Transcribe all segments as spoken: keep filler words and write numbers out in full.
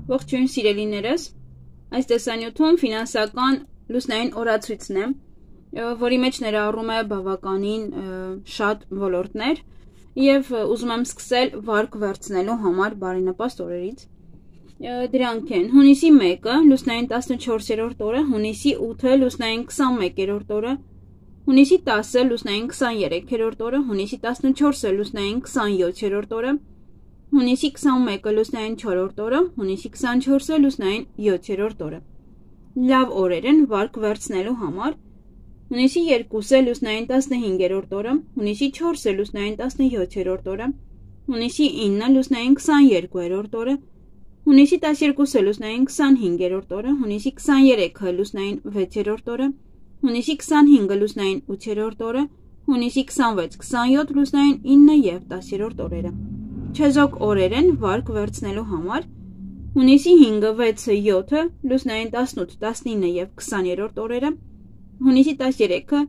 Ողջույն սիրելիներս, այս տեսանյութում ֆինանսական լուսնային օրացույցն է, որի մեջ ներառում է բավականին շատ ոլորտներ և ուզում եմ սկսել վարկ վերցնելու համար բարենպաստ օրերից։ Դրանք են հունիսի մեկը, լուսնային տասնչորսերորդ օրը, հունիսի ութը, լուսնային քսանմեկերորդ օրը, հունիսի տասը, լուսնային քսաներեքերորդ օրը, հունիսի տասնչորսը, լուսնային քսանյոթերորդ օրը, հունիսի քսանմեկը, լուսնային չորրորդ օրը, հունիսի քսանչորսը, լուսնային յոթերորդ օրը։ Լավ օրեր են վարկ վերցնելու համար։ Հունիսի երկուսը, լուսնային տասնհինգերորդ օրը, հունիսի չորսը, լուսնային տասնյոթերորդ օրը, հունիսի ինը, լուսնային քսաներկուերորդ օրը, հունիսի տասներկուսը, լուսնային քսանհինգերորդ օրը, հունիսի քսաներեքը, լուսնային վեցերորդ օրը, հունիսի քսանհինգը, լուսնային ութերորդ օրը, հունիսի քսանվեց, քսանյոթ, լուսնային ինը և տասերորդ օրերը։ Չեզոք օրեր են վարկ վերցնելու համար։ Հունիսի հինգը, վեցը, յոթը, լուսնային տասնութ, տասնինը և քսաներորդ օրերը, հունիսի տասերեքը,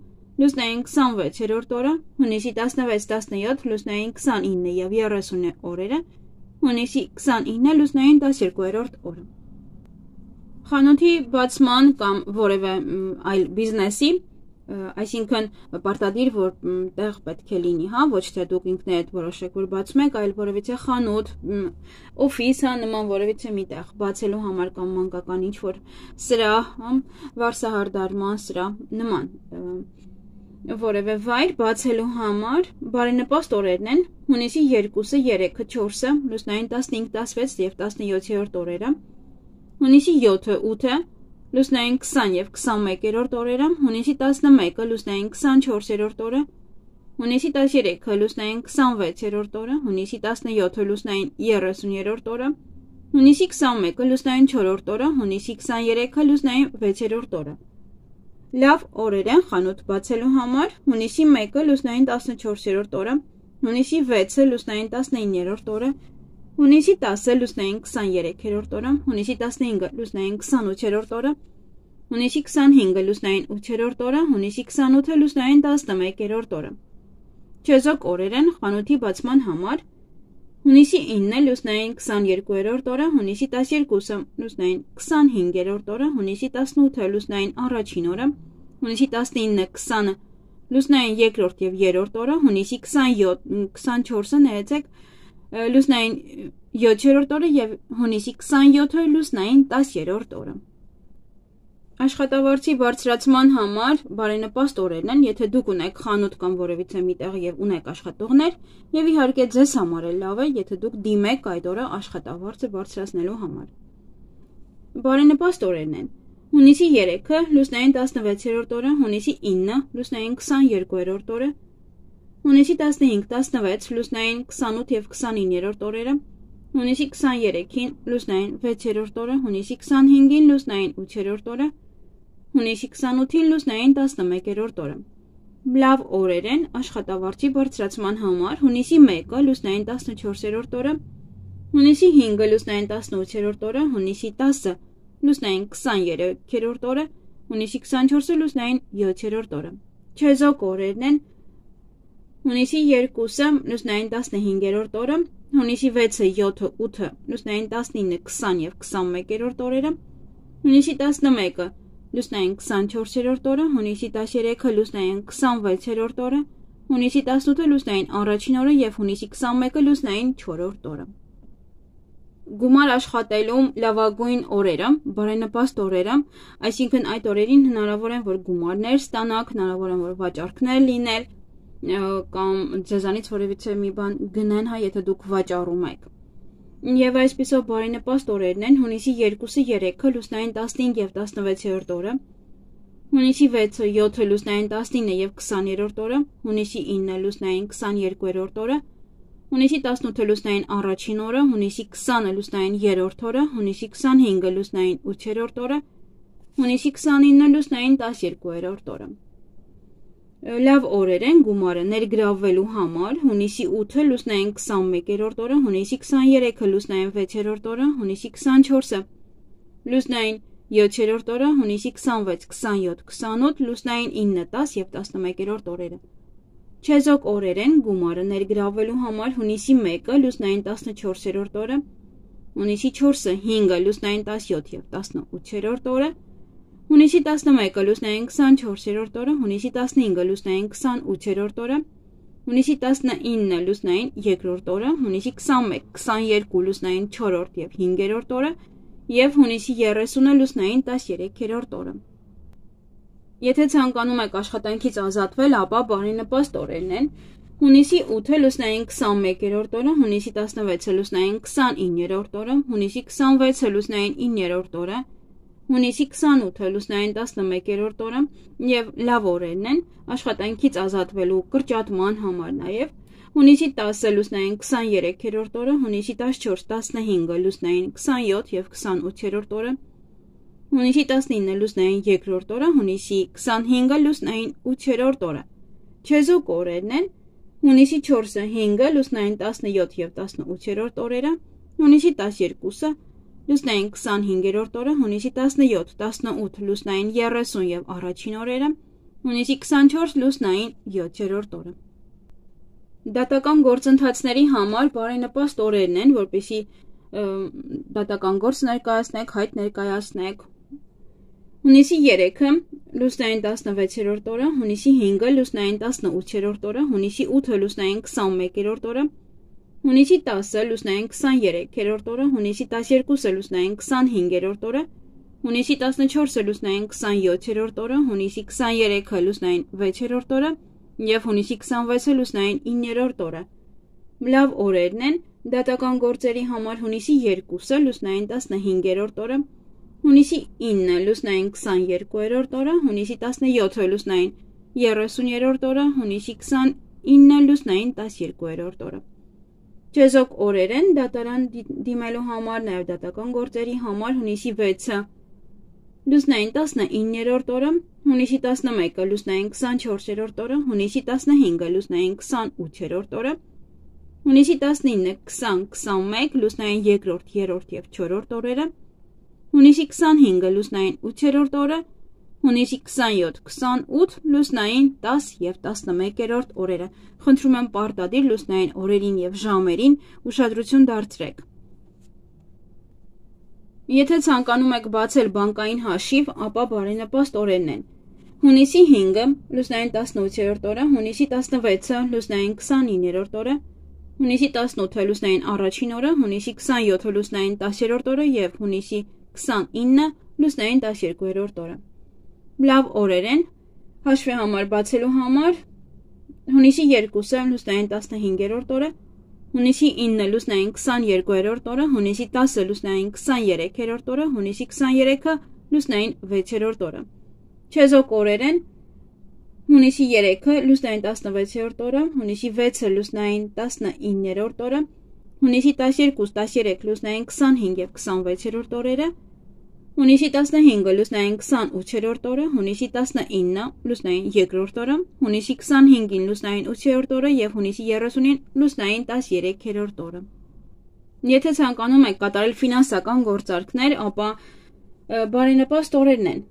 լուսնային քսանվեցերորդ օրը, հունիսի տասնվեց, տասնյոթ, լուսնային քսանինը և երեսունը օրերը, հունիսի քսանինը, լուսնային տասներկուերորդ օրը։ Խանութի բացման կամ որևէ այլ բիզնեսի, այսինքն պարտադիր, որ տեղ պետք է լինի, հա, ոչ թե դուք ինքներդ որոշեք, որ բացում եք, այլ որևիցե խանութ, օֆիս, հա, նման որևիցե մի տեղ բացելու համար կամ մանկական ինչ-որ սրահ, վարսահարդարման սրահ, նման որևէ վայր բացելու համար բարենպաստ օրերն են հունիսի երկուսը, երեքը, չորսը, լուսնային տասնհինգ, տասնվեց և տասնյոթերորդ օրերը, հունիսի յոթը, ութը, լուսնային քսան և քսանմեկերորդ օրերը, հունիսի տասնմեկը, լուսնային քսանչորսերորդ օրը, հունիսի տասերեքը, լուսնային քսանվեցերորդ օրը, հունիսի տասնյոթը, լուսնային երեսուներորդ օրը, հունիսի քսանմեկը, լուսնային չորրորդ օրը, հունիսի քսաներեքը, լուսնային վեցերորդ օրը։ Լավ օրեր են խանութ բացելու համար հունիսի մեկը, լուսնային տասնչորսերորդ օրը, հունիսի վեցը, լուսնային տասնիններորդ օրը, հունիսի տասը, լուսնային քսաներեքերորդ օրը, հունիսի տասնհինգը, լուսնային քսանութերորդ օրը, հունիսի քսանհինգը, լուսնային ութերորդ օրը, հունիսի քսանութը, լուսնային տասնմեկերորդ օրը։ Չեզոք օրեր են խանութի բացման համար հունիսի ինը, լուսնային քսաներկուերորդ օրը, հունիսի տասներկուսը, լուսնային քսանհինգերորդ օրը, հունիսի տասնութը, լուսնային առաջին օրը, հունիսի տասնինը, քսանը, լուսնային երկրորդ և երրորդ օրը, հունիսի քսանչորսը, ներեցեք, լուսնային յոթերորդ օրը և հունիսի քսանյոթը, լուսնային տասերորդ օրը։ Աշխատավարձի բարձրացման համար բարենպաստ օրերն են, եթե դուք ունեք խանութ կամ որևիցե մի տեղ և ունեք աշխատողներ, և իհարկե ձեզ համար էլ լավ է, եթե դուք դիմեք այդ օրը աշխատավարձը բարձրացնելու համար։ Բարենպաստ օրերն են հունիսի երեքը, լուսնային տասնվեցերորդ օրը, հունիսի ինը, լուսնային քսաներկուերորդ օրը, հունիսի տասնհինգ, տասնվեց, լուսնային քսանութ և քսանիններորդ օրերը, հունիսի քսաներեքին, լուսնային վեցերորդ օրը, հունիսի քսանհինգին, լուսնային ութերորդ օրը, հունիսի քսանութին, լուսնային տասնմեկերորդ օրը։ Լավ օրեր են աշխատավարձի բարձրացման համար հունիսի մեկը, լուսնային տասնչորսերորդ օրը, հունիսի հինգը, լուսնային տասնութերորդ օրը, հունիսի տասը, լուսնային քսաներեքերորդ օրը, հունիսի քսանչորսը, լուսնային յոթերորդ օրը։ Չեզոք օրերն են հունիսի երկուսը, լուսնային տասնհինգերորդ օրը, հունիսի վեցը, յոթը, ութը, լուսնային տասնինը, քսան և քսանմեկերորդ օրերը, հունիսի տասնմեկը, լուսնային քսանչորսերորդ օրը, հունիսի տասերեքը, լուսնային քսանվեցերորդ օրը, հունիսի տասնութը, լուսնային առաջին օրը և հունիսի քսանմեկը, լուսնային չորրորդ օրը։ Գումար աշխատելու լավագույն օրերը, բարենպաստ օրերը, այսինքն այդ օրերին հնարավոր են, որ գումարներ ստանաք, հնարավոր են, որ վաճառքներ լինել, կամ ձեզանից որևիցե մի բան գնեն, հա, եթե դուք վաճառում եք։ Եվ այսպիսով բարենպաստ օրերն են հունիսի երկուսը, երեքը, լուսնային տասնհինգ և տասնվեցերորդ օրը, հունիսի վեցը, յոթը, լուսնային տասնինը և քսաներորդ օրը, հունիսի ինը, լուսնային քսաներկուերորդ օրը, հունիսի տասնութը, լուսնային առաջին օրը, հունիսի քսանը, լուսնային երրորդ օրը, հունիսի քսանհինգը, լուսնային ութերորդ օրը, հունիսի քսանինը, լուսնային տասներկուերորդ օրը։ Լավ օրեր են գումարը ներգրավվելու համար հունիսի ութը, լուսնային քսանմեկերորդ օրը, հունիսի քսաներեքը, լուսնային վեցերորդ օրը, հունիսի քսանչորսը, լուսնային յոթերորդ օրը, հունիսի քսանվեց, քսանյոթ, քսանութ, լուսնային ինը, տասը և տասնմեկերորդ օրերը։ Չեզոք օրեր են գումարը ներգրավվելու համար հունիսի մեկը, լուսնային տասնչորսերորդ օրը, հունիսի չորսը հինգը լուսնային տասնյոթ և տասնութերորդ օրը, հունիսի տասնմեկը լուսնային քսանչորսերորդ օրը, հունիսի տասնհինգը լուսնային քսանութերորդ օրը, հունիսի տասնինը լուսնային երկրորդ օրը, հունիսի քսանմեկ, քսաներկու լուսնային չորրորդ և հինգերորդ օրը և հունիսի երեսունը լուսնային տասներեքերորդ օրը։ Եթե ցանկանում եք աշխատանքից ազատվել, ապա բարենպաստ օրերն են հունիսի ութը լուսնային քսանմեկերորդ օրը, հունիսի տասնվեցը լուսնային քսանիններորդ օրը, հունիսի քսանվեցը լուսնային իններորդ օրը, հունիսի քսանութը լուսնային տասնմեկերորդ օրը և լավ օրերն են աշխատանքից ազատվելու կրճատման համար նաև հունիսի տասը լուսնային քսաներեքերորդ օրը, հունիսի տասնչորս տասնհինգը լուսնային քսանյոթ և քսանութերորդ օրը, հունիսի տասնինը լուսնային երկրորդ օրը, հունիսի քսանհինգը լուսնային ութերորդ օրը։ Չեզոք օրերն են հունիսի չորսը հինգը լուսնային տասնյոթ և տասնութերորդ օրերը, հունիսի տասներկուսը լուսնային քսանհինգերորդ օրը, հունիսի տասնյոթ տասնութ լուսնային երեսուն և առաջին օրերը, հունիսի քսանչորս լուսնային յոթերորդ օրը։ Դատական գործընթացների համար բարենպաստ օրերն են, որպեսզի դատական գործ ներկայացնեք, հայտ ներկայացնեք։ Հունիսի երեքը լուսնային տասնվեցերորդ օրը, հունիսի հինգը լուսնային տասնութերորդ օրը, հունիսի ութը լուսնային քսանմեկերորդ օրը, հունիսի տասը լուսնային քսաներեքերորդ օրը, հունիսի տասներկուսը լուսնային քսանհինգերորդ օրը, հունիսի տասնչորսը լուսնային քսանյոթերորդ օրը, հունիսի քսաներեքը լուսնային վեցերորդ օրը և հունիսի քսանվեցը լուսնային իններորդ օրը։ Լավ օրերն են դատական գործերի համար հունիսի երկուսը լուսնային տասնհինգերորդ օրը, հունիսի ինը լուսնային քսաներկուերորդ օրը, հունիսի տասնյոթը լուսնային երեսուներորդ օրը, հունիսի քսանինը լուսնային տասներկուերորդ օրը։ Չեզոք օրեր են դատարան դիմելու համար, նաև դատական գործերի համար հունիսի վեցը լուսնային տասնիններորդ օրը, հունիսի տասնմեկը լուսնային քսանչորսերորդ օրը, հունիսի տասնհինգը լուսնային քսանութերորդ օրը, հունիսի տասնինը քսան քսանմեկ լուսնային երկրորդ, երրորդ և չորրորդ օրերը, հունիսի քսանհինգը լուսնային ութերորդ օրը, հունիսի քսանյոթ քսանութ լուսնային տաս և տասնմեկերորդ օրերը։ Խնդրում եմ պարտադիր լուսնային օրերին և ժամերին ուշադրություն դարձրեք։ Եթե ցանկանում եք բացել բանկային հաշիվ, ապա բարենպաստ օրերն են հունիսի հինգը լուսնային տասնութերորդ օրը, հունիսի տասնվեցը լուսնային քսանիններորդ օրը, հունիսի տասնութը լուսնային առաջին օրը, հունիսի քսանյոթը լուսնային տասներորդ օրը և հունիսի քսանինը լուսնային տասներկուերորդ օրը։ Լավ օրեր են հաշվի համար բացելու համար հունիսի երկուսը լուսնային տասնհինգերորդ օրը, հունիսի ինը լուսնային քսաներկուերորդ օրը, հունիսի տասը լուսնային քսաներեքերորդ օրը, հունիսի քսաներեքը լուսնային վեցերորդ օրը։ Չեզոք օրեր են հունիսի երեքը լուսնային տասնվեցերորդ օրը, հունիսի վեցը լուսնային տասնիններորդ օրը, հունիսի տասներկուս տասներեք լուսնային քսանհինգ և քսանվեցերորդ օրերը, հունիսի տասնհինգը լուսնային քսանութերորդ օրը, հունիսի տասնինը լուսնային երկրորդ օրը, հունիսի քսանհինգին լուսնային ութերորդ օրը և հունիսի երեսունին լուսնային տասներեքերորդ օրը։ Եթե ցանկանում եք կատարել ֆինանսական գործարքներ, ապա բարենպաստ օրերն են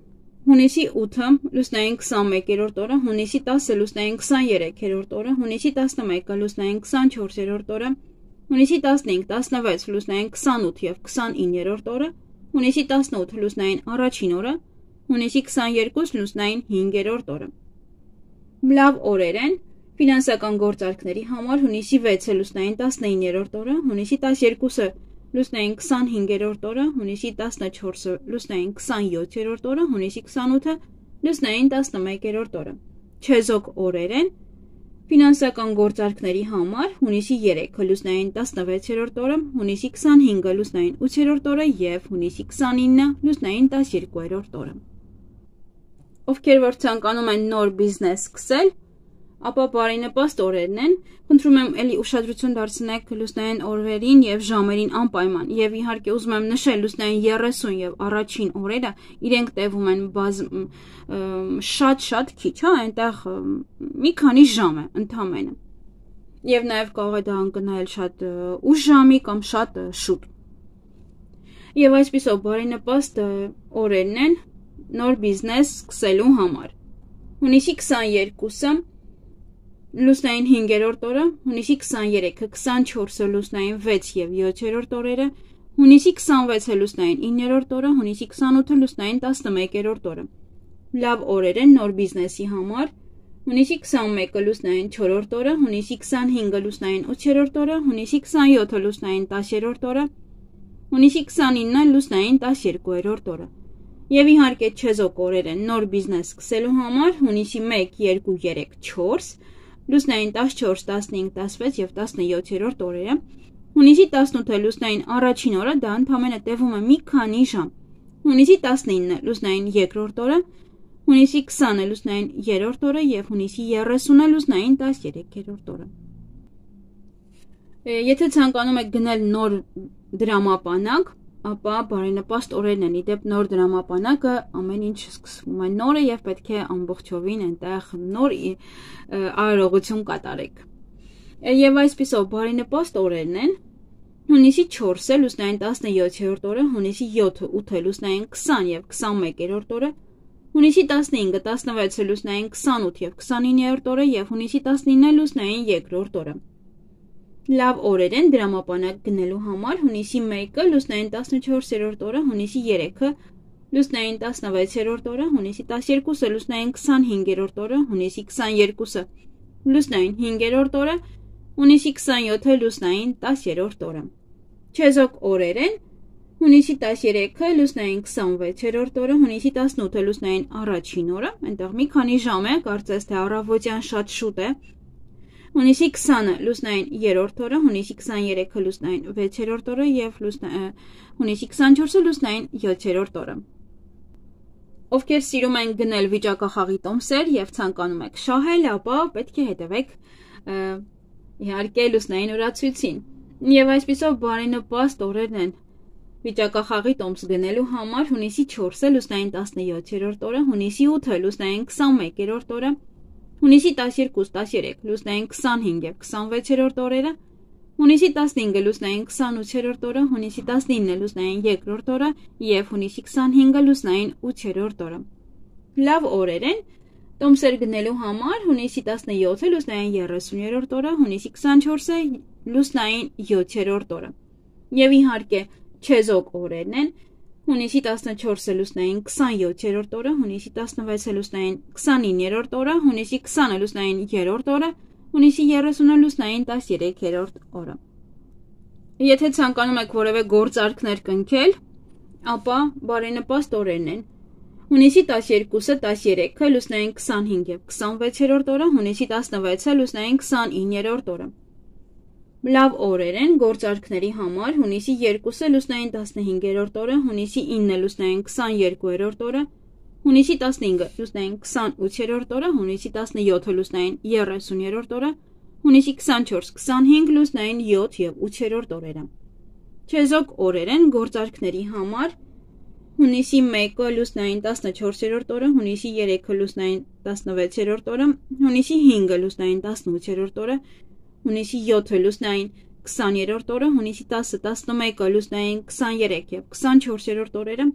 հունիսի ութը լուսնային քսանմեկերորդ օրը, հունիսի տասը լուսնային քսաներեքերորդ օրը, հունիսի տասնմեկը լուսնային քսանչորսերորդ օրը, հունիսի տասնհինգ տասնվեց լուսնային քսանութ և քսանիններորդ օրը, հունիսի տասնութ լուսնային առաջին օրը, հունիսի քսաներկուս լուսնային հինգերորդ օրը։ Լավ օրեր են ֆինանսական գործարքների համար հունիսի վեցը լուսնային տասնիններորդ օրը, հունիսի տասներկուսը լուսնային քսանհինգերորդ օրը, հունիսի տասնչորսը լուսնային քսանյոթերորդ օրը, հունիսի քսանութը լուսնային տասնմեկերորդ օրը։ Չեզոք օրեր են ֆինանսական գործարքների համար հունիսի երեքը լուսնային տասնվեցերորդ օրը, հունիսի քսանհինգը լուսնային ութերորդ օրը և հունիսի քսանինը լուսնային տասներկուերորդ օրը։ Ովքեր որ ցանկանում են նոր բիզնես սկսել, ապա բարենպաստ օրերն են։ Խնդրում եմ էլի ուշադրություն դարձնեք լուսնային օրերին և ժամերին անպայման և իհարկե ուզում եմ նշել լուսնային երեսուն և առաջին օրերը իրենք տևում են բազ շատ-շատ քիչ, հա, այնտեղ մի քանի ժամ է ընդամենը։ Եվ նաև կարող է դա ընկնել շատ ուշ ժամի կամ շատ շուտ։ Եվ այսպիսով բարենպաստ օրերն են նոր բիզնես սկսելու համար։ Հունիսի քսաներկուսը լուսնային հինգերորդ օրը, հունիսի քսաներեքը քսանչորսը լուսնային վեց և յոթերորդ օրերը, Հունիսի քսանվեցը լուսնային իններորդ օրը, հունիսի քսանութը լուսնային տասնմեկերորդ օրը։ Լավ օրեր են նոր բիզնեսի համար։ Հունիսի քսանմեկը լուսնային չորրորդ օրը, հունիսի քսանհինգը լուսնային ութերորդ օրը, հունիսի քսանյոթը լուսնային տասերորդ օրը, հունիսի քսանինը լուսնային տասներկուերորդ օրը։ Եվ իհարկե չեզոք օրեր են նոր բիզնես սկսելու համար, հունիսի մեկ, երկու, երեք, չորս, լուսնային տասնչորս, տասնհինգ, տասվեց և տասնյոթերորդ օրերը, հունիսի տասնութը լուսնային առաջին օրը, դա ընդամենը տևում է մի քանի ժամ, հունիսի տասնինը լուսնային երկրորդ օրը, հունիսի քսանը լուսնային երրորդ օրը և հունիսի երեսունը լուսնային տասներեքերորդ օրը։ Եթե ցանկանում եք գնել նոր դրամապանակ, ապա բարենպաստ օրերն են, իդեպ նոր դրամապանակը ամեն ինչ սկսվում է նորը և պետք է ամբողջովին այնտեղ նոր արարողություն կատարեք։ Եվ այսպիսով բարենպաստ օրերն են հունիսի չորսը լուսնային տասնյոթերորդ օրը, հունիսի յոթը, ութը լուսնային քսան և քսանմեկերորդ օրը, հունիսի տասնհինգը, տասնվեցը լուսնային քսանութ և քսանիններորդ օրը և հունիսի տասնինը լուսնային երկրորդ օրը։ Լավ օրեր են դրամապանակ գնելու համար հունիսի մեկը լուսնային տասնչորսերորդ օրը, հունիսի երեքը լուսնային տասնվեցերորդ օրը, հունիսի տասներկուսը լուսնային քսանհինգերորդ օրը, հունիսի քսանյոթը լուսնային հինգերորդ օրը, հունիսի քսանյոթը լուսնային տասերորդ օրը։ Չեզոք օրեր են հունիսի տասներեքը լուսնային քսանվեցերորդ օրը, հունիսի տասնութը լուսնային առաջին օրը, այնտեղ մի քանի ժամ է, կարծես թե առավոտյան շատ շուտ է, հունիսի քսանը լուսնային երրորդ օրը, հունիսի քսաներեքը լուսնային վեցերորդ օրը և հունիսի քսանչորսը լուսնային յոթերորդ օրը։ Ովքեր սիրում են գնել վիճակախաղի տոմսեր և ցանկանում եք շահել, ապա պետք է հետևեք իհարկե լուսնային օրացույցին։ Եվ այսպիսով բարենպաստ օրերն են վիճակախաղի տոմս գնելու համար հունիսի չորսը լուսնային տասնյոթերորդ օրը, հունիսի ութը լուսնային քսանմեկերորդ օրը, հունիսի տասներկուսը, տասներեք լուսնային քսանհինգ և քսանվեցերորդ օրերը, հունիսի տասնհինգը լուսնային քսանութերորդ օրը, հունիսի տասնինը լուսնային երկրորդ օրը և հունիսի քսանհինգը լուսնային ութերորդ օրը։ Լավ օրեր են տոմսեր գնելու համար հունիսի տասնյոթը լուսնային երեսուներորդ օրը, հունիսի քսանչորսը լուսնային յոթերորդ օրը։ Եվ իհարկե չեզոք օրերն են հունիսի տասնչորսը լուսնային քսանյոթերորդ օրը, հունիսի տասնվեցը լուսնային քսանիններորդ օրը, հունիսի քսանը լուսնային երրորդ օրը, հունիսի երեսունը լուսնային տասներեքերորդ օրը։ Եթե ցանկանում եք որևէ գործարքներ կնքել, ապա բարենպաստ օրերն են հունիսի տասներկուսը, տասներեքը լուսնային քսանհինգ և քսանվեցերորդ օրը, հունիսի տասնվեցը լուսնային քսանիններորդ օրը։ Լավ օրեր են գործարքների համար հունիսի երկուսը լուսնային տասնհինգերորդ օրը, հունիսի ինը լուսնային քսանյոթերորդ օրը, հունիսի տասնհինգը լուսնային քսանութերորդ օրը, հունիսի տասնյոթը լուսնային երեսուներորդ օրը, հունիսի քսանչորսը, քսանհինգ լուսնային յոթ և ութերորդ օրերը։ Չեզոք օրեր են գործարքների համար հունիսի մեկը լուսնային տասնչորսերորդ օրը, հունիսի երեքը լուսնային տասնվեցերորդ օրը, հունիսի հինգը լուսնային տասնութերորդ օրը, հունիսի յոթը լուսնային քսաներորդ օրը, հունիսի տասը, տասնմեկը լուսնային քսաներեք և քսանչորսերորդ օրերը,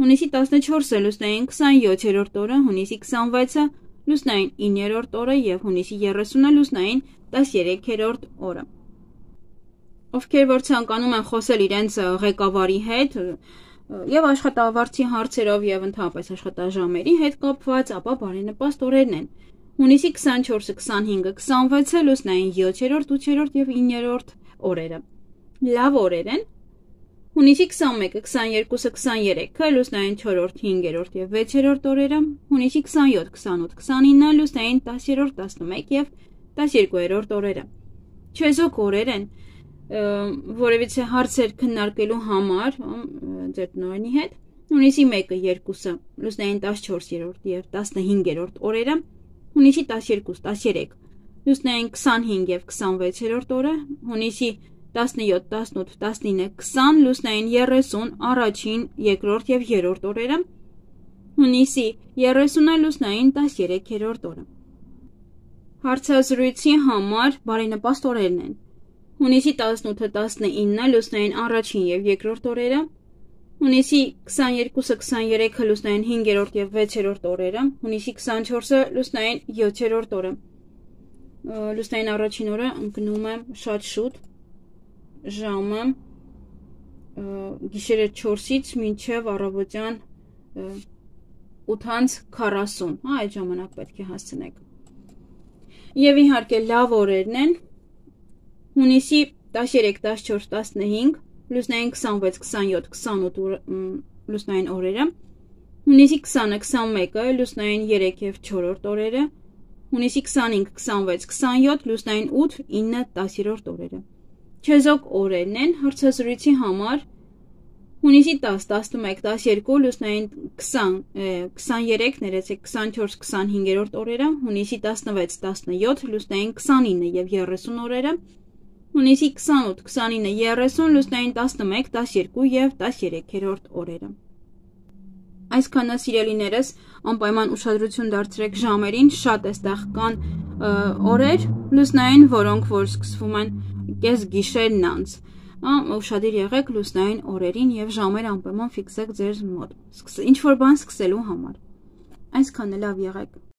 հունիսի տասնչորսը լուսնային քսանյոթերորդ օրը, հունիսի քսանվեցը լուսնային իններորդ օրը և հունիսի երեսունը լուսնային տասներեքերորդ օրը։ Ովքեր որ ցանկանում են խոսել իրենց ղեկավարի հետ և աշխատավարձի հարցերով և ընդհանրապես աշխատաժամերի հետ կապված, ապա բարենպաստ օրերն են հունիսի քսանչորսը, քսանհինգը, քսանվեցը լուսնային յոթերորդ, ութերորդ և իններորդ օրերը։ Լավ օրեր են հունիսի քսանմեկը, քսաներկուսը, քսաներեքը լուսնային չորրորդ, հինգերորդ և վեցերորդ օրերը, հունիսի քսանյոթ, քսանութ, քսանինը լուսնային տասներորդ, տասնմեկ և տասներկուերորդ օրերը։ Չեզոք օրեր են որևիցե հարցեր քննարկելու համար ձեր տնօրենի հետ հունիսի մեկը, երկուսը լուսնային տասնչորսերորդ և տասնհինգերորդ օրերը, հունիսի տասներկուսը, տասներեք լուսնային քսանհինգ և քսանվեցերորդ օրը, հունիսի տասնյոթ, տասնութ, տասնինը, քսան լուսնային երեսուն առաջին, երկրորդ և երրորդ օրերը, հունիսի երեսունը լուսնային տասներեքերորդ օրը։ Հարցազրույցի համար բարենպաստ օրերն են հունիսի տասնութը, տասնինը լուսնային առաջին և երկրորդ օրերը, հունիսի քսաներկուսը, քսաներեքը լուսնային հինգերորդ և վեցերորդ օրերը, հունիսի քսանչորսը լուսնային յոթերորդ օրը։ Լուսնային առաջին օրը ընկնում է շատ շուտ, ժամը գիշերը չորսից մինչև առավոտյան ութից քառասուն, հա, այդ ժամանակ պետք է հասցնեք։ Եվ իհարկե լավ օրերն են հունիսի տասներեք, տասնչորս, տասնհինգ, լուսնային քսանվեց, քսանյոթ, քսանութ լուսնային օրերը, հունիսի քսանը, քսանմեկը, լուսնային երեք և չորրորդ օրերը, հունիսի քսանհինգ, քսանվեց, քսանյոթ, լուսնային ութ, ինը, տասներորդ օրերը։ Չեզոք օրերն են հարցազրույցի համար հունիսի տաս, տասնմեկ, տասներկու, լուսնային քսան, քսաներեք, ներեցեք, քսանչորս, քսանհինգերորդ օրերը, հունիսի տասնվեց, տասնյոթ, լուսնային քսանինը և երեսուն օրերը, հունիսի քսանութ, քսանինը, երեսուն, լուսնային տասնմեկ, տասներկու և տասներեքերորդ օրերը։ Այսքանը սիրելիներս, անպայման ուշադրություն դարձրեք ժամերին, շատ էստեղ կան օրեր լուսնային, որոնք որ սկսվում են կես գիշերն անց, ուշադիր եղեք լուսնային օրերին և ժամեր անպայման ֆիքսեք ձեր մոտ, ինչ որ բան սկսելու համար։ Այսքանը լավ եղեք։